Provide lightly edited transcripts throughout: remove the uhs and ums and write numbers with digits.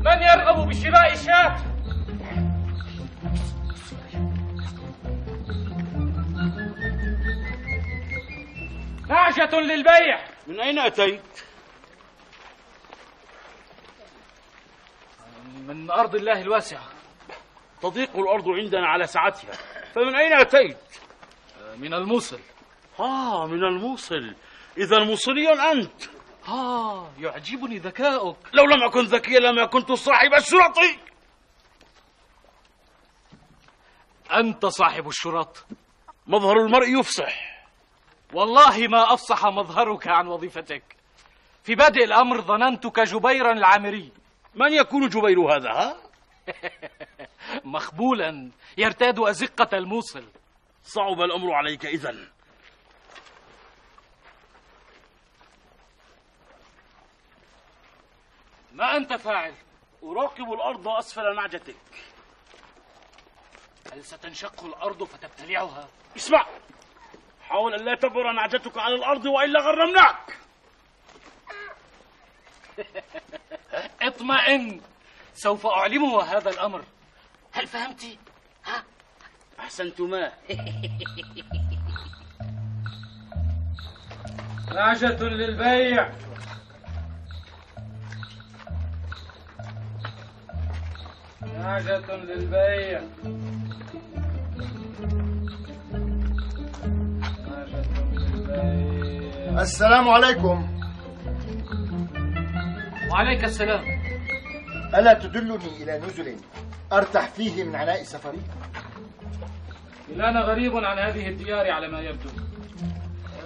من يرغب بشراء شاة؟ نعجة للبيع. من أين أتيت؟ من أرض الله الواسعة. تضيق الأرض عندنا على سعتها، فمن أين أتيت؟ من الموصل. من الموصل، إذا موصلي أنت. يعجبني ذكاؤك. لو لم أكن ذكيا لما كنت صاحب الشرط. أنت صاحب الشرط. مظهر المرء يفصح. والله ما أفصح مظهرك عن وظيفتك. في بادئ الأمر ظننتك جبيرا العامري. من يكون جبير هذا؟ مخبولا يرتاد أزقة الموصل. صعب الأمر عليك إذن. ما أنت فاعل؟ أراقب الأرض أسفل نعجتك. هل ستنشق الأرض فتبتلعها؟ اسمع، حاول أن لا تبر نعجتك على الأرض وإلا غرمناك. اطمئن، سوف أعلمه هذا الأمر. هل فهمت؟ أحسنتما. نعجة للبيع. نعجة للبيع. نعجة للبيع. السلام عليكم. وعليك السلام. ألا تدلني إلى نزل أرتاح فيه من عناء سفري؟ أنا غريب عن هذه الديار على ما يبدو.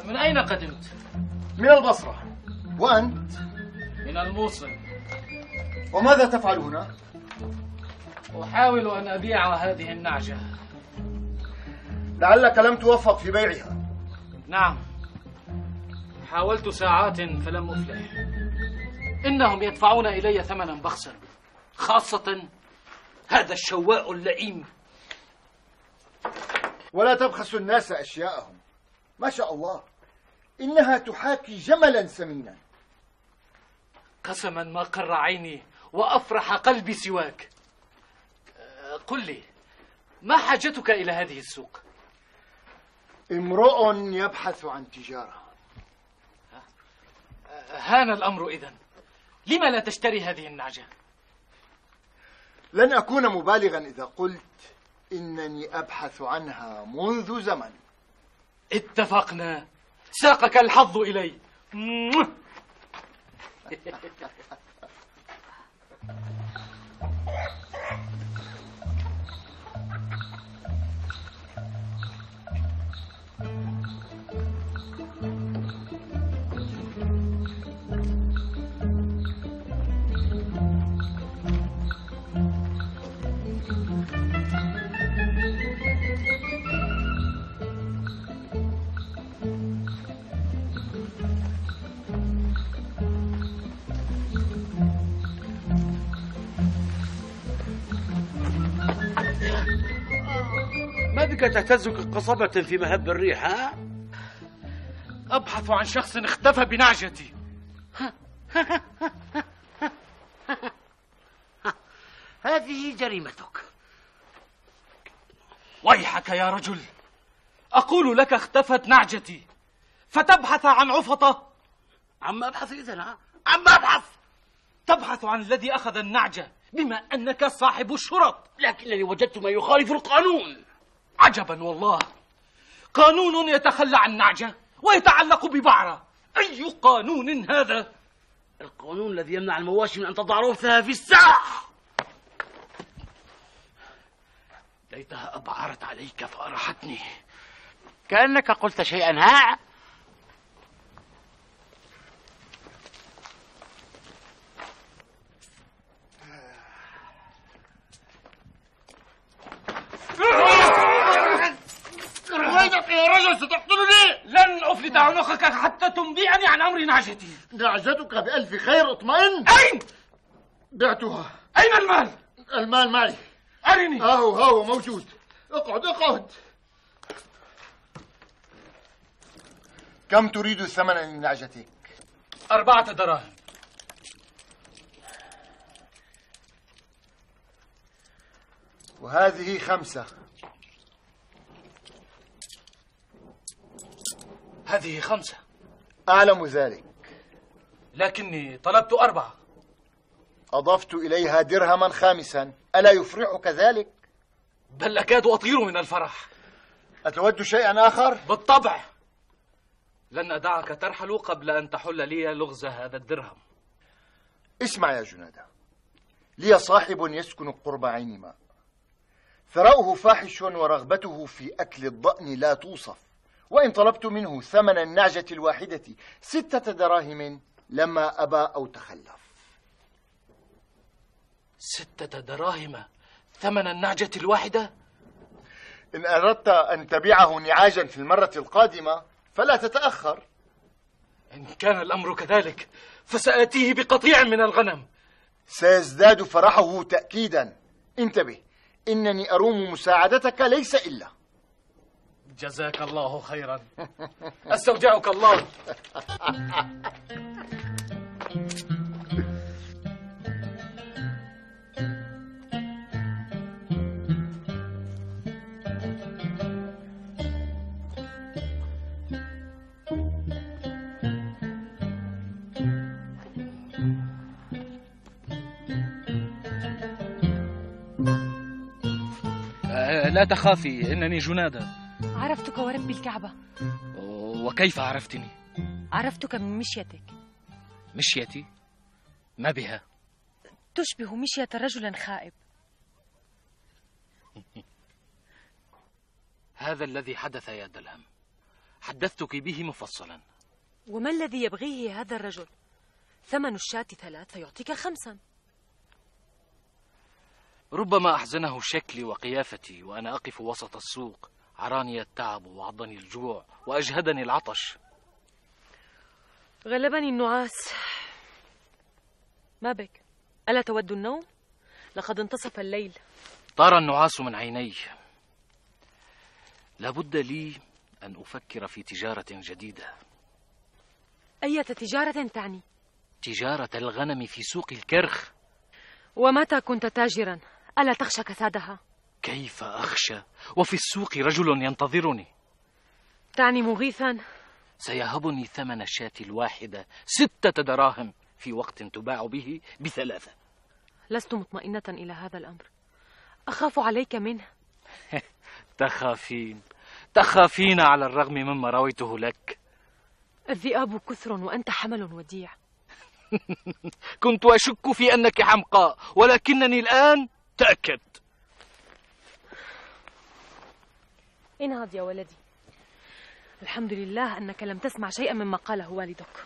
من أين قدمت؟ من البصرة. وأنت؟ من الموصل. وماذا تفعل هنا؟ أحاول أن أبيع هذه النعجة. لعلك لم توفق في بيعها. نعم، حاولت ساعات فلم أفلح. إنهم يدفعون إلي ثمنا بخسا، خاصة هذا الشواء اللئيم. ولا تبخسوا الناس أشياءهم. ما شاء الله، إنها تحاكي جملا سمينا. قسما ما قر عيني وأفرح قلبي سواك. قل لي، ما حاجتك إلى هذه السوق؟ امرؤ يبحث عن تجارة. هان الأمر إذن. لما لا تشتري هذه النعجة؟ لن أكون مبالغا إذا قلت إنني أبحث عنها منذ زمن. اتفقنا، ساقك الحظ إلي. ما بك تهتز كقصبة في مهب الريح؟ أبحث عن شخص اختفى بنعجتي. هذه جريمتك. ويحك يا رجل، أقول لك اختفت نعجتي فتبحث عن عفطة. عما أبحث إذن؟ عما أبحث؟ تبحث عن الذي أخذ النعجة بما أنك صاحب الشرط. لكنني وجدت ما يخالف القانون. عجبا والله، قانون يتخلى عن نعجة ويتعلق ببعرة. أي قانون هذا؟ القانون الذي يمنع المواشي من أن تضع روثها في الساح. ليتها أبعرت عليك فأرحتني. كأنك قلت شيئا. الرجل ستقتلني. لن أفلت عنقك حتى تنبئني عن أمر نعجتي. نعجتك بألف خير، اطمئن. أين؟ بعتها. أين المال؟ المال معي. أرني. هاو موجود. اقعد. كم تريد ثمنا لنعجتك؟ 4 دراهم. وهذه 5. هذه 5. أعلم ذلك، لكني طلبت 4. أضفت إليها درهما 5. ألا يفرحك ذلك؟ بل أكاد أطير من الفرح. أتود شيئا آخر؟ بالطبع. لن أدعك ترحل قبل أن تحل لي لغز هذا الدرهم. اسمع يا جنادة، لي صاحب يسكن قرب عين ماء، ثراؤه فاحش ورغبته في أكل الضأن لا توصف، وإن طلبت منه ثمن النعجة الواحدة 6 دراهم لما أبى أو تخلف. 6 دراهم ثمن النعجة الواحدة؟ إن أردت أن تبيعه نعاجا في المرة القادمة فلا تتأخر. إن كان الأمر كذلك فسآتيه بقطيع من الغنم. سيزداد فرحه تأكيدا. انتبه، إنني أروم مساعدتك ليس إلا. جزاك الله خيرا. أستودعك الله. لا تخافي، إنني جنادة. عرفتك ورب الكعبة. وكيف عرفتني؟ عرفتك من مشيتك. مشيتي؟ ما بها؟ تشبه مشية رجل خائب. هذا الذي حدث يا دلهم، حدثتك به مفصلا. وما الذي يبغيه هذا الرجل؟ ثمن الشاة 3 فيعطيك 5. ربما أحزنه شكلي وقيافتي وأنا أقف وسط السوق. عراني التعب وعضني الجوع وأجهدني العطش. غلبني النعاس. ما بك؟ ألا تود النوم؟ لقد انتصف الليل. طار النعاس من عيني. لابد لي أن أفكر في تجارة جديدة. أية تجارة تعني؟ تجارة الغنم في سوق الكرخ. ومتى كنت تاجرا؟ ألا تخشى كسادها؟ كيف أخشى وفي السوق رجل ينتظرني؟ تعني مغيثا؟ سيهبني ثمن الشاة الواحدة 6 دراهم في وقت تباع به ب3. لست مطمئنة إلى هذا الأمر، أخاف عليك منه. تخافين على الرغم مما رويته لك. الذئاب كثر وأنت حمل وديع. كنت أشك في أنك حمقاء، ولكنني الآن تأكدت. انهض يا ولدي. الحمد لله أنك لم تسمع شيئا مما قاله والدك.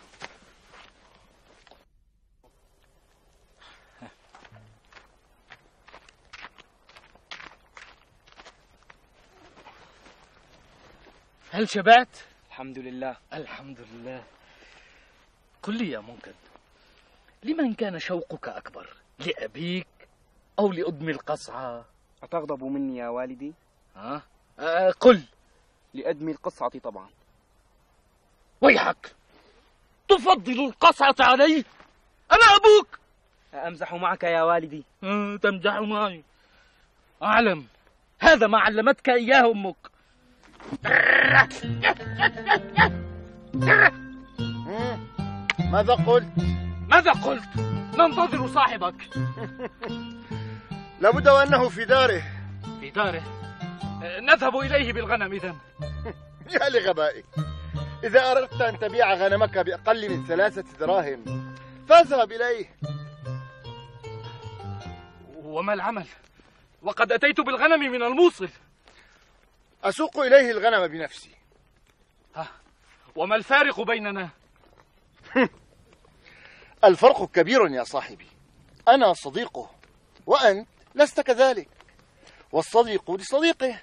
هل شبعت؟ الحمد لله. الحمد لله. قل لي يا منكد، لمن كان شوقك أكبر، لأبيك أو لأدم القصعة؟ أتغضب مني يا والدي؟ قل. لأدمي القصعة طبعا. ويحك، تفضل القصعة علي؟ أنا أبوك. أمزح معك يا والدي؟ تمزح معي. أعلم، هذا ما علمتك إياه أمك. ماذا قلت؟ ننتظر صاحبك. لابد وأنه في داره. في داره؟ نذهب إليه بالغنم إذن. يا لغبائك، إذا أردت أن تبيع غنمك بأقل من 3 دراهم فاذهب إليه. وما العمل؟ وقد أتيت بالغنم من الموصل. أسوق إليه الغنم بنفسي. وما الفارق بيننا؟ الفرق كبير يا صاحبي. أنا صديقه وأنت لست كذلك، والصديق لصديقه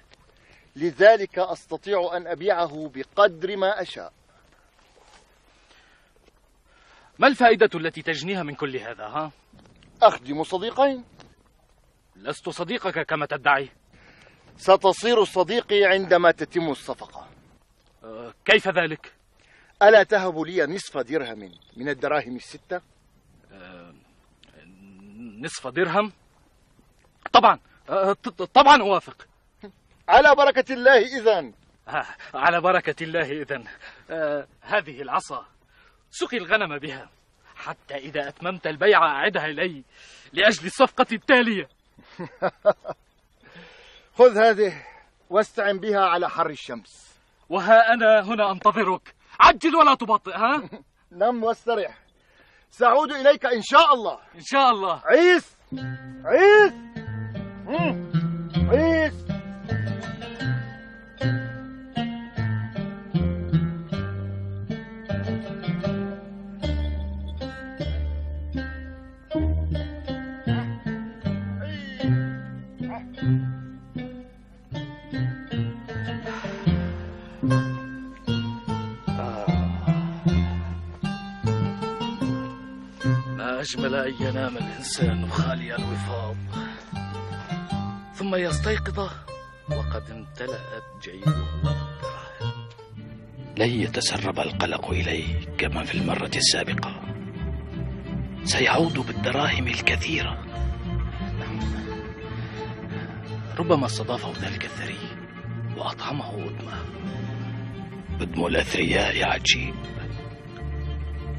لذلك أستطيع أن أبيعه بقدر ما أشاء. ما الفائدة التي تجنيها من كل هذا ها؟ أخدم صديقين. لست صديقك كما تدعي. ستصير صديقي عندما تتم الصفقة. كيف ذلك؟ ألا تهب لي نصف درهم من الدراهم الستة؟ نصف درهم؟ طبعا طبعا أوافق. على بركة الله إذن. على بركة الله إذن. هذه العصا سقي الغنم بها حتى إذا أتممت البيع أعدها إلي لأجل الصفقة التالية. خذ هذه واستعن بها على حر الشمس. وها أنا هنا أنتظرك، عجل ولا تبطئ ها؟ نم واسترح، سأعود إليك إن شاء الله. إن شاء الله. عيس عيس عيس. ما أجمل أن ينام الإنسان خالي الوفاض ثم يستيقظ وقد امتلأت جيبه بالدراهم. لن يتسرب القلق إليه كما في المرة السابقة. سيعود بالدراهم الكثيرة. ربما استضافه ذلك الثري وأطعمه أدمه. أدم الأثرياء عجيب،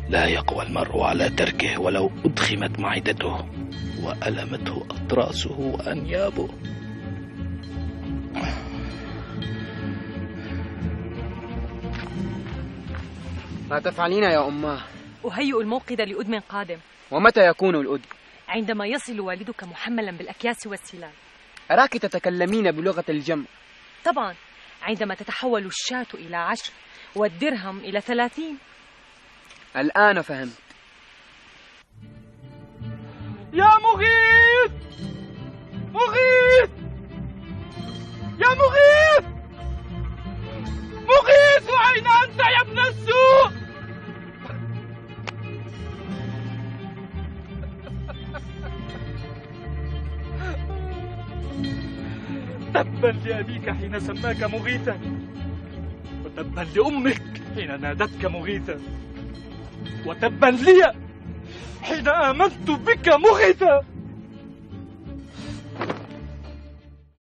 لا يقوى المرء على تركه ولو أدخمت معدته وألمته أطراسه وأنيابه. ما تفعلين يا أماه؟ أهيئ الموقد لأدم قادم. ومتى يكون الأدم؟ عندما يصل والدك محملا بالأكياس والسلال. أراك تتكلمين بلغة الجمع. طبعا، عندما تتحول الشاة إلى 10 والدرهم إلى 30. الآن فهمت. يا مغيث! مغيث! يا مغيث! مغيث، أين أنت يا ابن السوء؟ تبا لأبيك حين سماك مغيثا، وتبا لأمك حين نادتك مغيثا، وتبا لي حين آمنت بك مغيثا.